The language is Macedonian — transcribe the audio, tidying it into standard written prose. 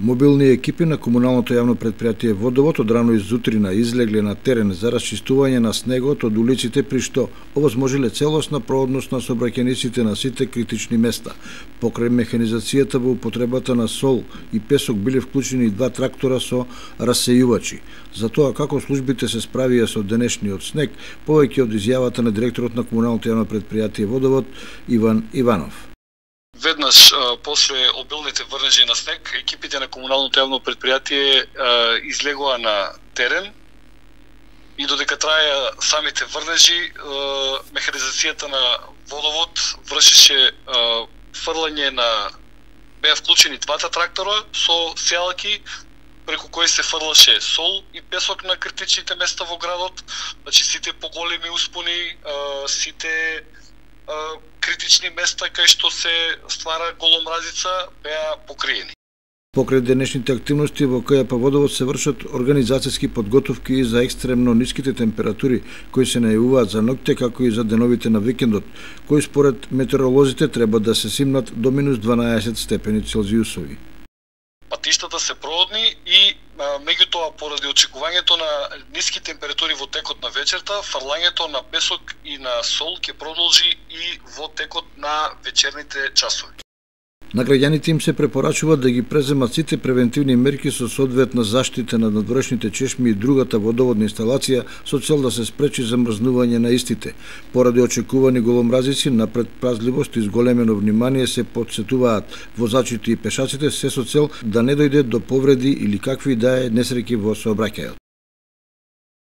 Мобилни екипи на комуналното јавно предпријатие Водовод од рано изутрина излегле на терен за расчистување на снегот од улиците, при што овозможиле целосна проводност на сообраќајниците на сите критични места. Покрај механизацијата во употребата на сол и песок биле вклучени и 2 трактора со расејувачи. За тоа како службите се справија со денешниот снег, повеќе од изјавата на директорот на комуналното јавно предпријатие Водовод Иван Иванов. Веднаш после обилните врнежи на снег, екипите на комуналното јавно предпријатие излегоа на терен и додека траја самите врнежи, механизацијата на Водовод вршеше фрлање на беа вклучени 2 трактора со сеалки преку кои се фрлаше сол и песок на критичните места во градот, значи сите поголеми успони, сите критични места кај што се ствара голомразица беа покриени. Покрај денешните активности во КЈП Водовод се вршат организацијски подготовки за екстремно ниските температури кои се најавуваат за ноќте како и за деновите на викендот, кои според метеоролозите треба да се симнат до -12 степени Целзиусови. Патиштата се проводни и меѓутоа поради очекувањето на ниски температури во текот на вечерта, фрлањето на песок и на сол ќе продолжи и во текот на вечерните часови. На граѓаните им се препорачува да ги преземат сите превентивни мерки со соодветна заштита на надворешните чешми и другата водоводна инсталација со цел да се спречи замрзнување на истите. Поради очекувани голомразици, на предпазливост и зголемено внимание се потсетуваат возачите и пешаците, се со цел да не дојде до повреди или какви да е несреќи во сообраќајот.